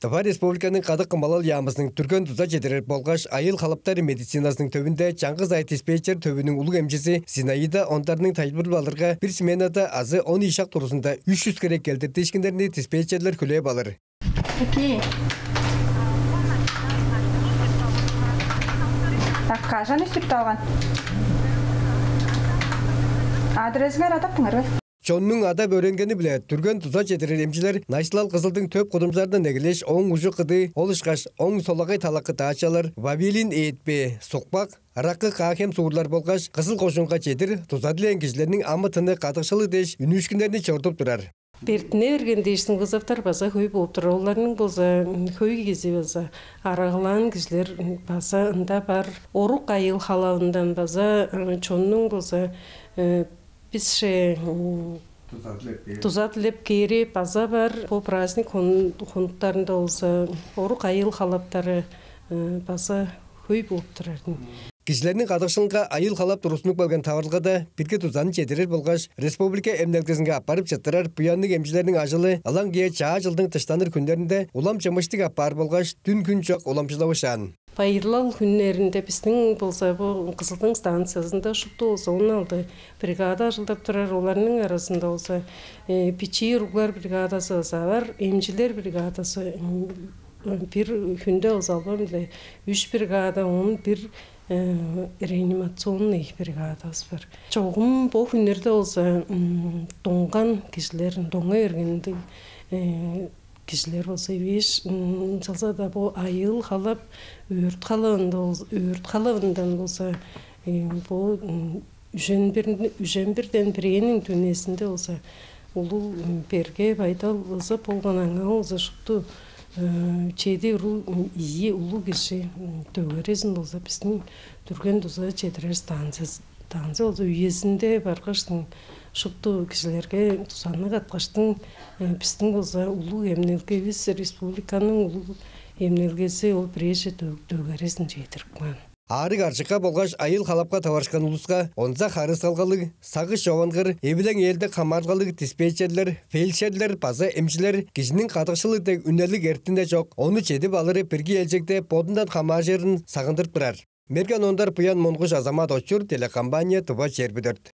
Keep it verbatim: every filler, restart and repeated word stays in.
Тыва Республиканың Кадык кымбалал яамызының түрген дуза чедирер болгаш айыыл халаптар медициназының төвүнде чаңгыс ай диспетчер төвүнүң улуг эмчизи Зинаида Ондарның тайылбырлап алырга, бир сменада азы он ийи шак турузунда үш чүс хире келдиртиишкиннерни диспетчерлер хүлээп алыр. Окей. Так, кажан үстүп алган? Адресиңер адап туңар бе? Чоннуң адап өөренгени-биле түрген дуза чедирер эмчилер Найысылал Кызылдың төп кудумчуларындан эгелээш, оң ужу кыдыы, ол ышкаш оң солагай талакы даачалар, вавилин ээдпээ, сукпак, ыраккы каа-хем суурлар болгаш Кызыл кожуунга чедир дуза дилээн кижилерниң амы-тыны кадыкшылыг дээш үнүүшкүннерни чорудуп турар. Бертине берген дээштиң вызовтар база хөй болуп турар. Оларның болза хөй кизи база арагалаан кижилер база ында бар. Орук айыыл халавындан база чоннуң болза бисче дуза дилеп кээри база бар. Бо праздник хонуктарында болза орук айыыл халаптары база хөй болуп турар. Кижилерниң кадыкшылынга айыыл халап тургустунуп келген таварылгада бирги дузаны чедирер болгаш республика эмнелгезинге аппарып чыттырар буянныг эмчилерниң ажылы ылаңгыя чаа чылдың дыштаныр хүннеринде улам чымыштыг апаар болгаш дүн-хүн чок уламчылавышаан. Байырлал хүннеринде бистиң болза бо Кызылдың станциязында шупту болза он алды бригада ажылдап турар. Оларның аразында болза бичии уруглар бригадазы база бар, эмчилер бригадазы бир хүнде болза албан-биле үш бригада, он бир реанимационный бригадабыс бар. Чогум бо хүннерде болза доңган кижилер, доңга бергендиг кижилер болза эвээш, ынчалза-даа бо айыыл халап, өөрт халавында болза, өөрт халавындан болза бо үжен бир, үжен бирден бирээниң дүнезинде болза улуг берге байдал ызып болган, аңаа болза шупту чеди уру ийи улуг кижи дөгерезин болза бистиң түрген дуза чедирер станция, станция болза үезинде баргаштың шупту кижилерге дузаны каткаштың бистиң болза улуг эмнелгевис, республиканың улуг эмнелгези ол бирээже дөгерезин чедирип каан. Аарыг аржыкка болгаш айыыл халапка таварышкан улуска онза харыысалгалыг, сагыш човангыр, эвилең ээлдек хамаарылгалыг диспетчерлер, фельдшерлер база эмчилер кижиниң кадыкшылыг дег үнелиг эртине чок, ону чедип алыры бирги ээлчегде бодундан хамааржырын сагындырып турар. Мерген Ондар, Буян Монгуш, Азамат Очур, телекомпания «Тыва чээрби дөрт».